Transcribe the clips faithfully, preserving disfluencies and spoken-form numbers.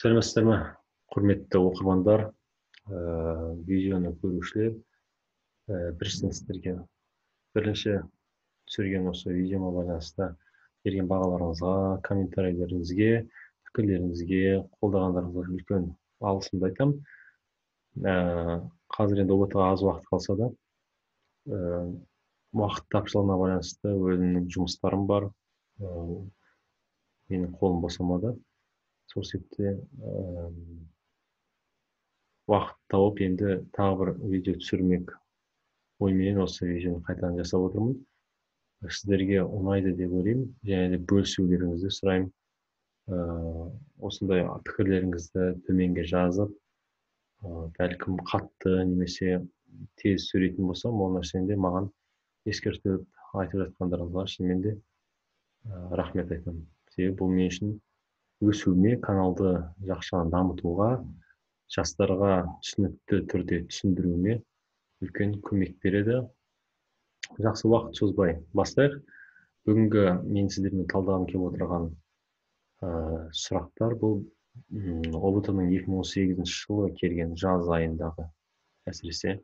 Сәлеметсіздер ме, құрметті оқырмандар, ә, видеоны көрушілер, ә, біріншіден сіздерге бірінші түсірген осы видеома байланысты берген бағаларыңызға, комментарийлеріңізге, пікірлеріңізге, қолдағандарыңызға үлкен алғысымды айтамын. Ә, қазір енді ұбт ға аз уақыт қалса да, ә, уақыт тапшылығына байланысты өзімнің жұмыстарым бар, ә, менің қолым босамады. Сол себепте уақыт тауып енді тағы бір видео түсірмек ойменен осы видеоны қайтадан жасап отырмын. Сіздерге ұнайды деп ойлаймын, және де бөлісулеріңізді сұраймын. Осындай пікірлеріңізді төменге жазып, бәлкім қатты немесе тез сөйлейтін болсам, ол нәрсені де маған ескертіп айтып жатқандарыңызға шынымен де рахмет айтамын. Себебі бұл мен үшін өсуіме, каналды жақсы дамытуға, жастарға түсінікті түрде түсіндіруіме үлкен көмек береді. Жақсы, уақыт созбай бастайық. Бүгінгі мен сіздермен талдағым келіп отырған ә, сұрақтар бұл ұбт ның екі мың он сегізінші жылы келген жаз айындағы, әсіресе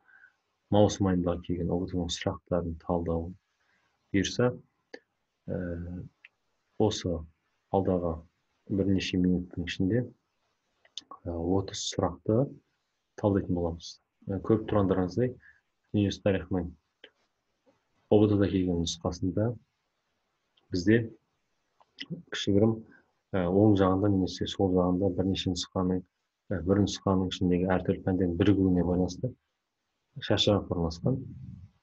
маусым айындағы келген ұбт ның сұрақтарын талдау бұйырса, ә, осы алдағы бірнеше минуттың ішінде отыз сұрақты талдайтын боламыз. Көріп тұрғандарыңыздай, дүниежүзі тарихының ұбт да келген нұсқасында бізде кішігірім оң жағында немесе сол жағында бірнеше нұсқаның, бір нұсқаның ішіндегі әртүрлі пәндердің бірігуіне байланысты шашырап орналасқан.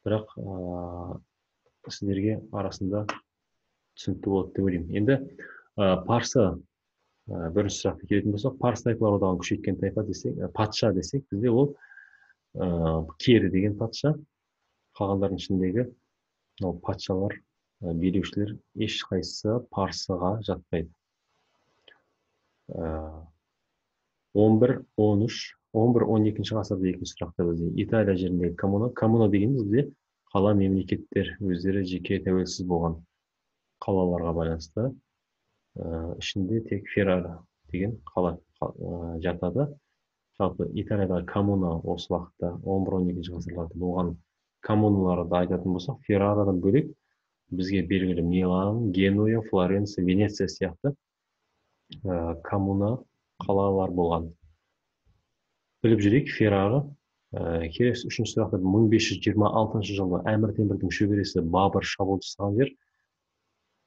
Бірақ ә, сіздерге арасында түсінікті болады деп ойлаймын. Енді ә, парсы ә, бірінші сұрақты келетін болсақ, парсы тайпалар одағын күшейткен тайпа десек, патша десек, бізде ол ә, кері деген патша. Қалғандардың ішіндегі ол патшалар, ә, билеушілер ешқайсысы парсыға жатпайды. он бір он үш он бір он екінші ғасырда екінші сұрақта бізде Италия жеріндегі коммуна. Коммуна дегеніміз бізде қала мемлекеттер өздері жеке тәуелсіз болған қалаларға байланысты. Ә, ішінде тек Феррара деген қала ә, жатады. Жалпы Италиядағы коммуна осы уақытта он бір он екінші ғасырларда болған коммуналарды айтатын болсақ, Феррарадан бөлек бізге белгілі Милан, Генуя, Флоренция, Венеция сияқты ә, коммуна қалалар болған. Біліп жүрейік, Феррара. Ә, келесі үшінші сұрақта мың бес жүз жиырма алтыншы жылы Әмір Темірдің шөбересі Бабыр шабуыл жасаған жер.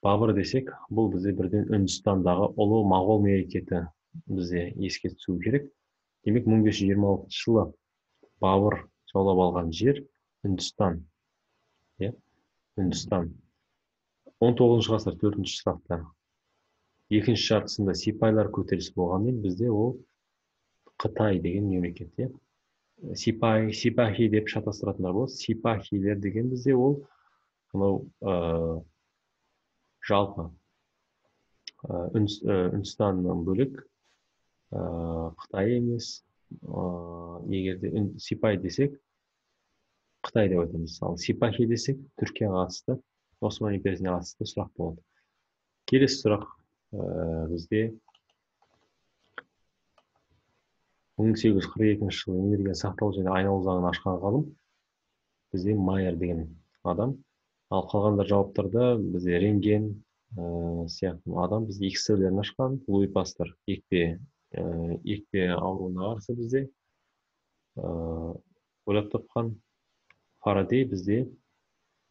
Бабыр десек, бұл бізде бірден Үндістандағы ұлы моғол мемлекеті бізде еске түсу керек. Демек, мың бес жүз жиырма алтыншы жылы Бабыр жаулап алған жер Үндістан. Е? Үндістан. он тоғызыншы ғасыр төртінші сұрақта екінші жартысында сипайлар көтерілісі болғанмен бізде ол Қытай деген мемлекет. Е? Сипай, сипахи деп шатастыратындар болады. Сипахилер деген бізде ол мынау ә, жалпы ә, Үндістаннан бөлек ә, Қытай емес. Ә, егерде сипай десек Қытай деп айтамыз. Ал сипахи десек Түркияға қатысты, Осман империясына қатысты сұрақ болады. Келесі сұрақ ә, бізде мың сегіз жүз қырық екінші жылы энергия сақтау және айналу заңын ашқан ғалым бізде Майер деген адам. Ал қалғандар жауаптарда бізде Рентген ә, сияқты адам бізде икс-лерін ашқан. Луи Пастер екпе ә, екпе ауруына қарсы бізде ә, ойлап тапқан. Фарадей бізде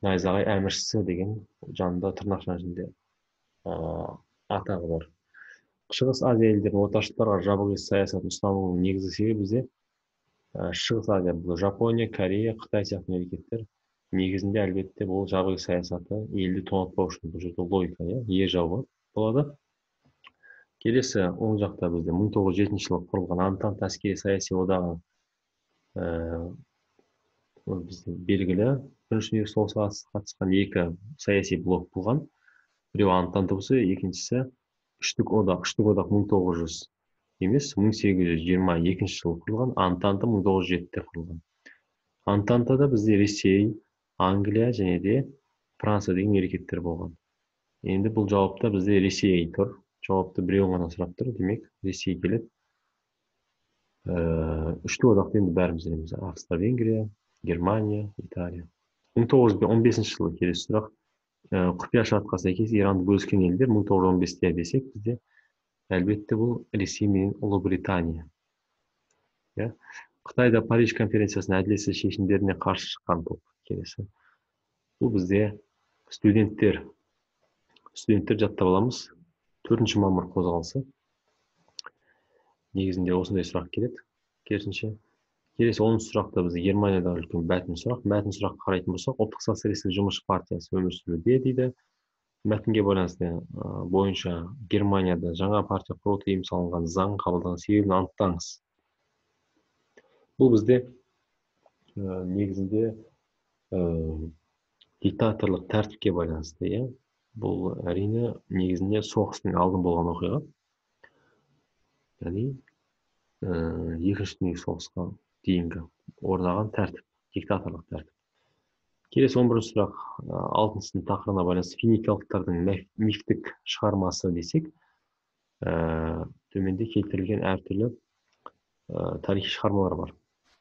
найзағай әміршісі деген жанында тырнақшаның ішінде ә, атағы бар. Шығыс Азия елдерінің отаршылдарға жабық саясатын ұстануының негізгі себебі бізде ә, Шығыс Азия, бұл Жапония, Корея, Қытай сияқты мемлекеттер негізінде әлбетте бұл жабық саясаты елді тоңатпау үшін, бұл жерде логика, е жауы болады. Келесі оң жақта бізде мың тоғыз жүз жетінші жылы құрылған Антант әскери саяси одағы ә, бізде белгілі. Бірінші дүниежүзілік соғысқа қатысқан екі саяси блок болған. Біреу Антант болса, екіншісі Үштік одақ. Үштік одақ мың тоғыз жүз емес, мың сегіз жүз жиырма екінші жылы құрылған. Антанты мың тоғыз жүз жетіде құрылған. Антантада бізде Ресей, Англия және де Франция деген мемлекеттер болған. Енді бұл жауапта бізде Ресей тұр. Жауапты біреу ғана сұрап тұр. Демек, Ресей келеді. үштік одақты енді бәріміз білеміз: Австро Венгрия, Германия, Италия. мың тоғыз жүз он бесінші жылы келесі сұрақ. Құпия шартқа сәйкес Иранды бөліскен елдер мың тоғыз жүз он бесте десек, бізде әлбетте бұл Ресей мен Ұлыбритания. Қытайда Париж конференциясының әділетсіз шешімдеріне қарсы шыққан топ келесі. Бұл бізде студенттер. Студенттер жаттап аламыз. төртінші мамыр қозғалысы. Негізінде осындай сұрақ келеді. Керісінше. Келесі оныншы сұрақта бізде Германиядағы үлкен мәтін сұрақ. Мәтін сұрақ қарайтын болсақ, ұлттық социалистік жұмысшы партиясы өмір сүруде дейді. Мәтінге байланысты бойынша Германияда жаңа партия құру тыйым салынған заң қабылданған себебін анықтаңыз. Бұл бізде негізінде диктаторлық тәртіпке байланысты. Бұл әрине негізінде соғыстың алдын болған оқиға. Яғни екінші дүниежүзілік соғысқа дейінгі орнаған тәртіп, диктаторлық тәртіп. Келесі он бірінші сұрақ, алтыншы сынып тақырыбына байланысты финикиялықтардың мифтік шығармасы десек, төменде келтірілген әртүрлі тарихи шығармалар бар.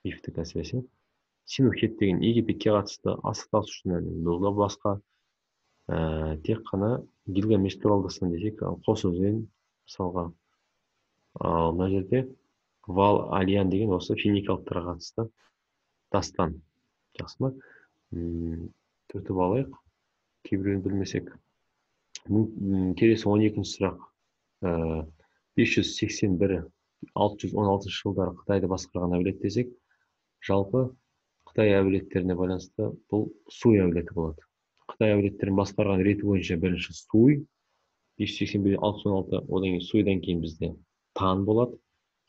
Мифтік әсіресе. Синухет деген Египетке қатысты асықтасушының бұл да басқа. Тек қана Гильгамеш туралы дастан десек, қос өзен мысалға. Ал мына жерде Вал Алиян деген осы финикиялықтарға қатысты дастан. Жақсы ма? Түртіп алайық. Кейбіреуін білмесек. Келесі он екінші сұрақ. бес жүз сексен бір алты жүз он алтыншы жылдары Қытайды басқарған әулет десек, жалпы Қытай әулеттеріне байланысты бұл Суй әулеті болады. Қытай әулеттерін басқарған реті бойынша бірінші Суй, бес жүз сексен бір алты жүз он алты, одан кейін Суйдан кейін бізде Тан болады.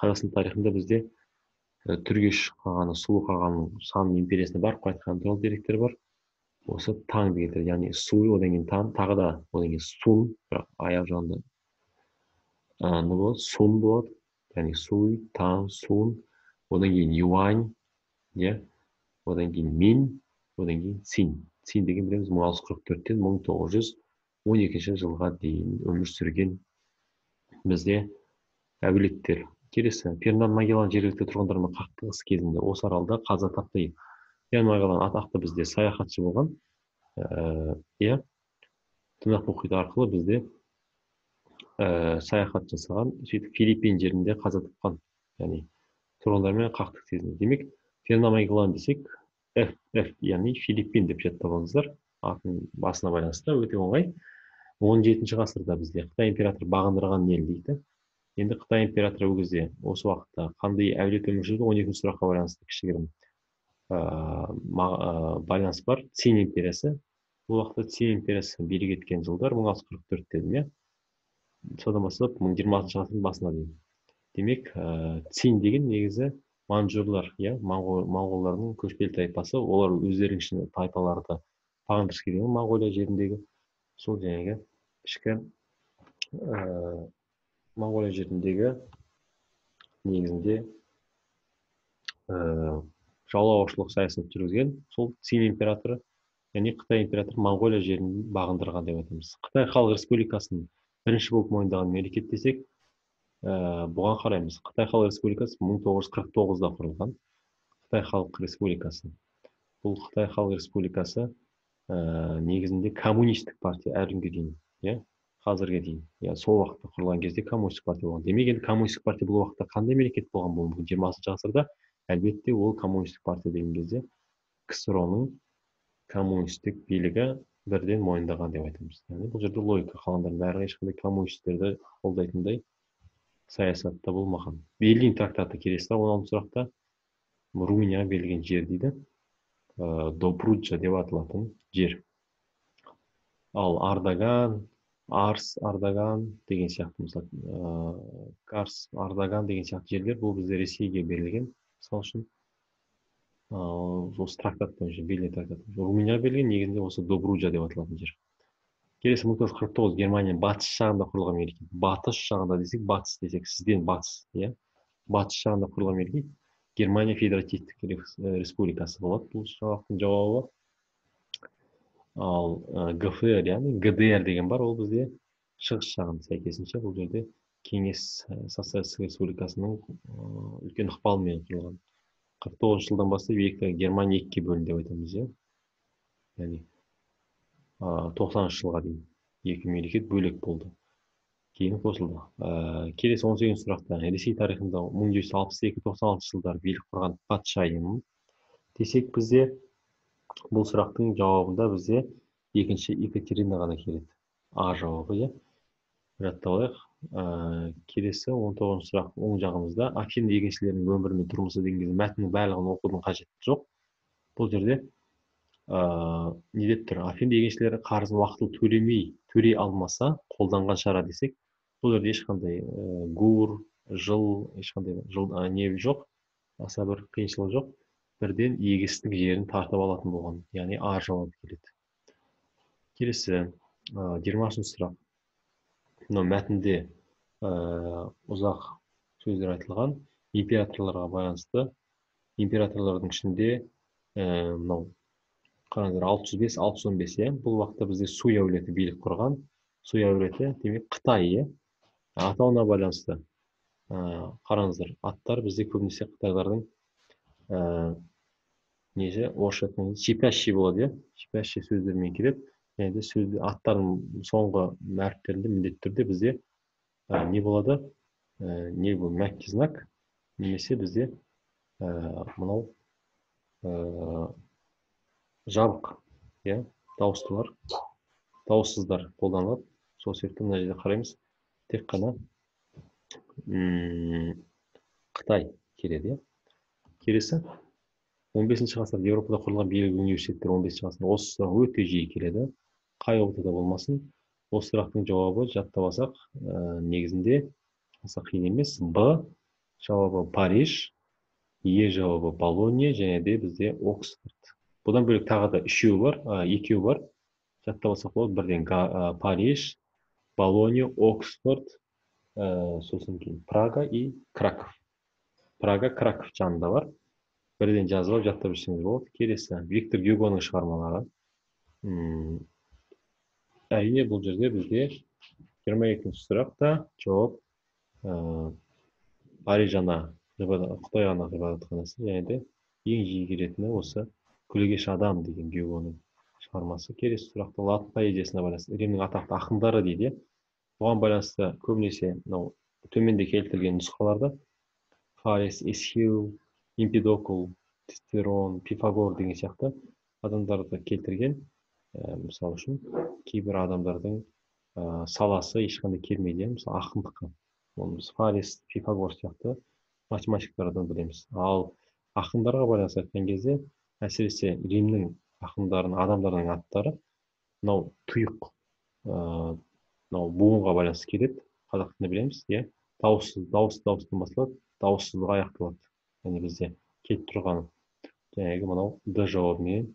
Қазақстан тарихында бізде Түргеш қағаны, Сұлу қағаның сан империясына барып қайтқан туралы деректер бар. Осы Таңды кетеді, яғни Суй, одан кейін Тан, тағы да одан кейін Сун, бірақ аяқ жағында не болады, Сун болады. Яғни Суй, Тан, Сун, одан кейін Юань, одан кейін Мин, одан кейін Цин. Цин деген білеміз мың алты жүз қырық төрттен мың тоғыз жүз он екінші жылға дейін өмір сүрген бізде әулеттер. Келесі, Фернан Магеллан жергілікті тұрғындармен қақтығыс кезінде осы аралда қаза тапты. Фернан Магеллан атақты бізде саяхатшы болған. Иә, Тынық мұхиты арқылы бізде саяхат жасаған, сөйтіп Филиппин жерінде қаза тапқан. Яғни тұрғындармен қақтығыс кезінде. Демек, Фернан Магеллан десек, F, F, яғни Филиппин деп жаттап алыңыздар. Атын басына байланысты өте оңай. он жетінші ғасырда бізде Қытай императоры бағындырған ел дейді. Енді Қытай императоры ол кезде осы уақытта қандай әулет өмір сүрді? он екінші сұраққа байланысты кішігірім байланыс бар. Цин империясы. Бұл уақытта Цин империясы билік еткен жылдар мың алты жүз қырық төрт дедім, иә. Содан бастап мың жиырмасыншы ғасырдың басына дейін. Демек, Цин деген негізі манжурлар, иә, моңғолдардың көшпелі тайпасы. Олар өздерінің ішінде тайпаларды бағындырғысы келген Моңғолия жеріндегі сол жаңағы ішкі Моңғолия жеріндегі негізінде жаулаушылық саясат жүргізген сол Цин императоры, яғни Қытай императоры Моңғолия жерін бағындырған деп айтамыз. Қытай Халық Республикасын бірінші болып мойындаған мемлекет десек, бұған қараймыз. Қытай Халық Республикасы мың тоғыз жүз қырық тоғызда құрылған. Қытай Халық Республикасы. Бұл Қытай Халық Республикасы негізінде коммунистік партия әлі күнге дейін, иә, қазірге дейін. Я сол уақытта құрылған кезде коммунистік партия болған. Демек, енді коммунистік партия бұл уақытта қандай мемлекет болған бұл жиырмасыншы ғасырда? Әлбетте ол коммунистік партия деген кезде КСР-ның коммунистік билігі бірден мойындаған деп айтамыз. Яғни бұл жерде логика қалғандардың бәрі ешқандай коммунистерді қолдайтындай саясатта болмаған. Берлин трактаты келесі он алтыншы сұрақта Румыния берілген жер дейді. Добруджа деп аталатын жер. Ал Ардаган, Арс, Ардаган деген сияқты, мысалы, Карс, Ардаган деген сияқты жерлер бұл бізде Ресейге берілген. Мысалы үшін, осы трактат бойынша, Берлин трактаты. Румыния берілген, негізінде осы Добруджа деп аталатын жер. Келесі мың тоғыз жүз қырық тоғыз Германия батыс жағында құрылған мемлекет. Батыс жағында десек, батыс десек, сізден батыс, иә. Батыс жағында құрылған мемлекет Германия Федеративтік Республикасы болады. Бұл сұрақтың жауабы. Ал ГФР, яғни ГДР деген бар, ол бізде шығыс жағында, сәйкесінше бұл жерде кеңес социалистік республикасының үлкен ықпалымен құрылған. қырық тоғызыншы жылдан бастап екі Германия екіге бөлінді деп айтамыз, иә. Яғни тоқсаныншы жылға дейін екі мемлекет бөлек болды. Кейін қосылды. Келесі он сегізінші сұрақта Ресей тарихында мың жеті жүз алпыс екі тоқсан алтыншы жылдары билік құрған патшайым десек, бізде бұл сұрақтың жауабында бізде екінші Екатерина ғана келеді. А жауабы, иә. Жаттап алайық. Келесі он тоғызыншы сұрақ оң жағымызда Афин егіншілерінің өмірі мен тұрмысы деген кезде мәтіннің барлығын оқудың қажеті жоқ. Бұл жерде не деп тұр? Афин егіншілері қарызын уақытылы төлемей, төлей алмаса қолданған шара десек, бұл жерде ешқандай гур, жыл, ешқандай жыл не жоқ, аса бір қиыншылық жоқ. Бірден егістік жерін тартып алатын болған, яғни А жауабы келеді. Келесі жиырмасыншы сұрақ. Мынау мәтінде ұзақ сөздер айтылған, императорларға байланысты. Императорлардың ішінде мынау қараңыздар, алты жүз бес алты жүз он бес, иә. Бұл уақытта бізде Суй әулеті билік құрған. Суй әулеті демек Қытай, иә. Атауына байланысты қараңыздар, аттар бізде көбінесе қытайлардың неше орысша айтқанда шипящий болады, иә. Шипящий сөздермен келеді. Және де сөз аттардың соңғы әріптерінде міндетті түрде бізде не болады? Не бұл мягкий знак, немесе бізде мынау жабық, иә, дауыстылар, дауыссыздар қолданылады. Сол себепті мына жерде қараймыз, тек қана Қытай келеді, иә. Келесі он бесінші ғасырда Еуропада құрылған белгілі университеттер он бесінші ғасырда осы сұрақ өте жиі келеді. Қай ортада болмасын, осы сұрақтың жауабы жаттап алсақ, негізінде аса қиын емес. Б жауабы Париж, Е жауабы Болонья, және де бізде Оксфорд. Бұдан бөлек тағы да үшеуі бар, екеуі бар. Жаттап алсақ болады, бірден Париж, Болонья, Оксфорд, сосын кейін Прага и Краков. Прага, Краков жанында бар. Бірден жазып алып жаттап жүрсеңіз болады. Келесі Виктор Гюгоның шығармалары. Әрине бұл жерде бізде жиырма екінші сұрақта жауап Париж ана, Қытай ана ғибадатханасы, және де ең жиі келетіні осы Күлегеш адам деген Гюгоның шығармасы. Келесі сұрақта латын поэзиясына байланысты Римнің атақты ақындары дейді. Бұған байланысты көбінесе мынау төменде келтірілген нұсқаларда Фалес, Эсхил, Эмпидокл, Цицерон, Пифагор деген сияқты адамдарды келтірген. Мысалы үшін кейбір адамдардың саласы ешқандай келмейді, мысалы ақындыққа. Оны біз Фалес, Пифагор сияқты математиктардан білеміз. Ал ақындарға байланысты айтқан кезде, әсіресе Римнің ақындарының, адамдарының аттары мынау тұйық, мынау буынға байланысты келеді. Қазақ тілінде білеміз, иә. Дауыссыз, дауыс дауыстан басталады, дауыссызға аяқталады. Яғни бізде келіп тұрған жаңағы мынау Д жауабымен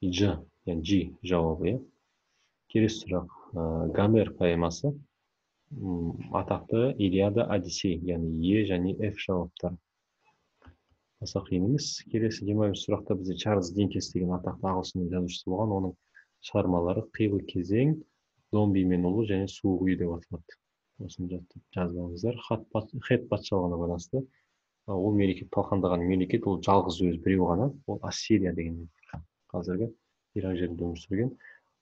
Ж, яғни Ж жауабы, иә. Келесі сұрақ. Гомер поэмасы атақты Илиада, Одиссей, яғни Е және Ф жауаптары. Аса қиын емес. Келесі жиырма бірінші сұрақта бізде Чарльз Диккенс деген атақты ағылшын жазушысы болған. Оның шығармалары Қилы кезең, Зомби мен ұлы және суық үй деп аталады. Осыны жазып алыңыздар. Хет патшалығына байланысты. Ол мемлекет талқандаған мемлекет, ол жалғыз өз біреу ғана, ол Ассирия деген қазіргі Ирак жерінде өмір сүрген.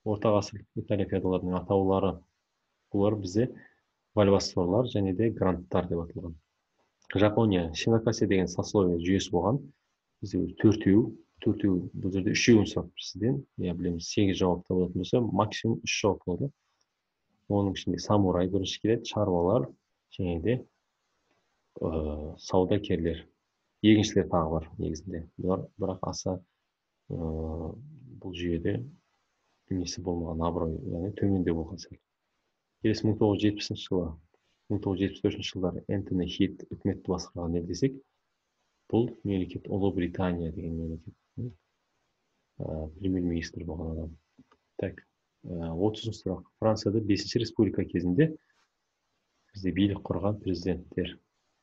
Орта ғасырлық Италия феодалдарының атаулары, бұлар бізде вальвассорлар және де гранттар деп аталған. Жапония Шинокасе деген сословие жүйесі болған. Бізде төртеу, төртеу, бұл жерде үшеуін сұрап сізден, я білеміз, сегіз жауапта болатын болса, максимум үш жауап болады. Оның ішінде самурай бірінші келеді, шаруалар, және де саудагерлер, егіншілер тағы бар негізінде. Бұлар бірақ аса бұл жүйеде несі болмаған, абырой, яғни төменде болған сәл. Келесі мың тоғыз жүз жетпісінші жылы, мың тоғыз жүз жетпіс төртінші жылдары Энтони Хит үкіметті басқарған ел десек, бұл мемлекет Ұлыбритания деген мемлекет. Премьер-министр болған адам. Так, отызыншы сұрақ. Францияда бесінші республика кезінде бізде билік құрған президенттер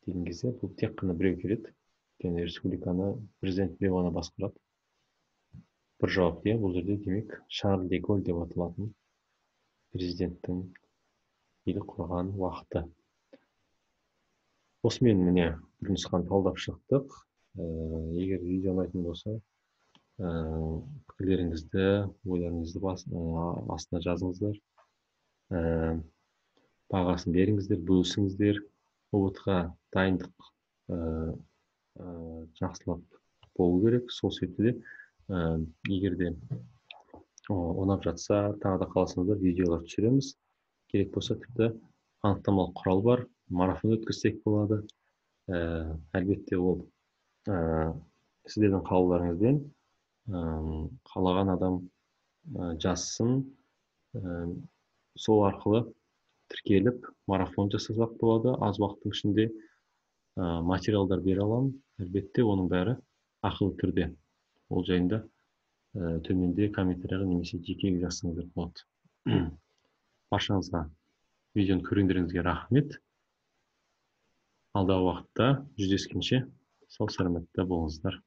деген кезде, бұл тек қана біреу келеді. Өйткені республиканы президент біреу ғана басқарады. Бір жауап, иә, бұл жерде демек Шарль де Голль деп аталатын президенттің или құрған уақыты. Осымен міне бір нұсқаны талдап шықтық. Егер видео ұнайтын болса, пікірлеріңізді, ойларыңызды астына жазыңыздар. Бағасын беріңіздер, бөлісіңіздер. ұбт-ға дайындық жақсылап болу керек. Сол себепті де егер де ұнап жатса, тағы да қаласаңыздар видеолар түсіреміз. Керек болса тіпті анықтамалық құрал бар, марафон өткізсек болады. Әлбетте ол сіздердің қалауларыңызбен қалаған адам жазсын, сол арқылы тіркеліп марафон жасасақ болады. Аз уақыттың ішінде материалдар бере аламын. Әлбетте оның бәрі ақылы түрде. Ол жайында төменде комментарияға немесе жеке жазсаңыздар болады. Баршаңызға видеоны көргендеріңізге рахмет. Алдағы уақытта жүздескенше сау саламатта болыңыздар.